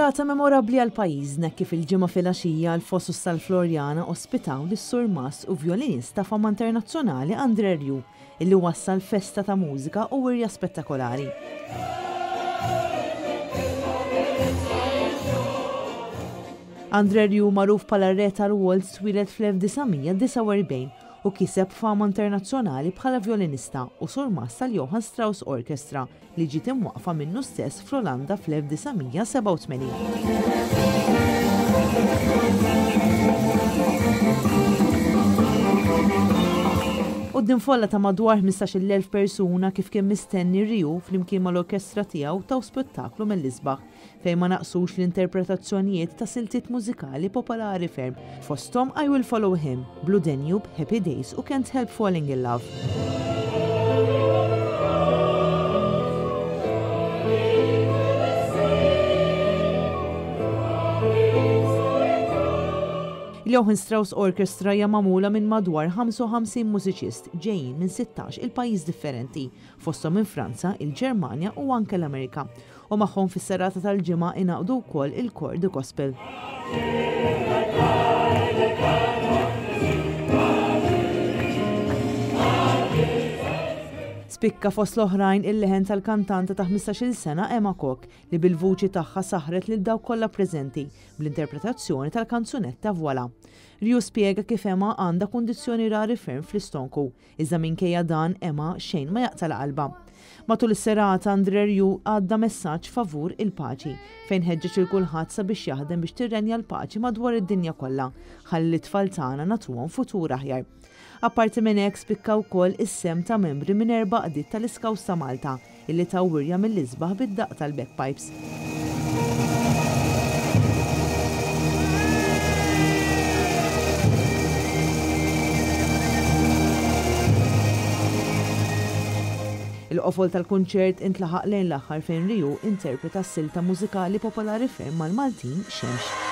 Serata memorabbli għal pajjiżna kif il-Ġimgħa filgħaxija l-Fosos tal-Floriana ospitaw lis-surmast u vjolinist ta' fama internazzjonali André Rieu illi wassal festa ta' mużika u wirja spettakolari. André Rieu magħruf bħala r-Re tal-Waltz twieled fl-1949 u kiseb fama internazzjonali bħala vjolinista u surmast tal-Johann Strauss Orchestra li ġiet imwaqqfa minnu stess fl-Olanda fl-1987. Quddiem folla ta' madwar 15,000 persuna kif kien mistenni Riu flimkien mal-orkestra tiegħu taw spettaklu mill-isbaħ fejn ma naqsux l-interpretazzjonijiet ta' siltiet mużikali popolari ferm, fosthom I Will Follow Him, Blue Danube, Happy Days u Can't Help Falling in Love. Il-Johann Strauss Orchestra hija magħmula minn madwar 55 mużiċist ġejjin minn 16 il-pajjiż differenti, fosthom minn Franza, il-Ġermanja u anke l-Amerika. U magħhom fis-serata tal-Ġimgħa ingħaqdu wkoll il-kor The Gospel. Spikka fost l-oħrajn il-leħen tal-kantanta ta' 15-il sena Emma Koch li bil-vuċi tagħha saħret lil dawk kollha preżenti bl-interpretazzjoni tal-kanzunetta Voilà. Riu spjega kif Emma għandha kundizzjoni rari ferm fl-istonku Iżda minkejja dan Emma xejn ma jaqtgħalha qalbha. Matul is-serata André Rieu għadda messaġġ favur il-paċi, fejn ħeġġeġ lil kulħadd sabiex jaħdem biex tirrenja l-paċi madwar id-dinja kollha, ħalli lit-tfal tagħna nagħtuhom futur aħjar. Apparti minn hekk spikka wkoll is-sehem ta' membri minn erba' għaqdiet tal-Iscouts ta' Malta, illi taw wirja mill-isbaħ bid-daqq tal-bagpipes. Il-qofol tal-kunċert intlaħaq lejn l-aħħar fejn Riu interpreta s-silta mużikali popolari ferm mal-Maltin Xemx.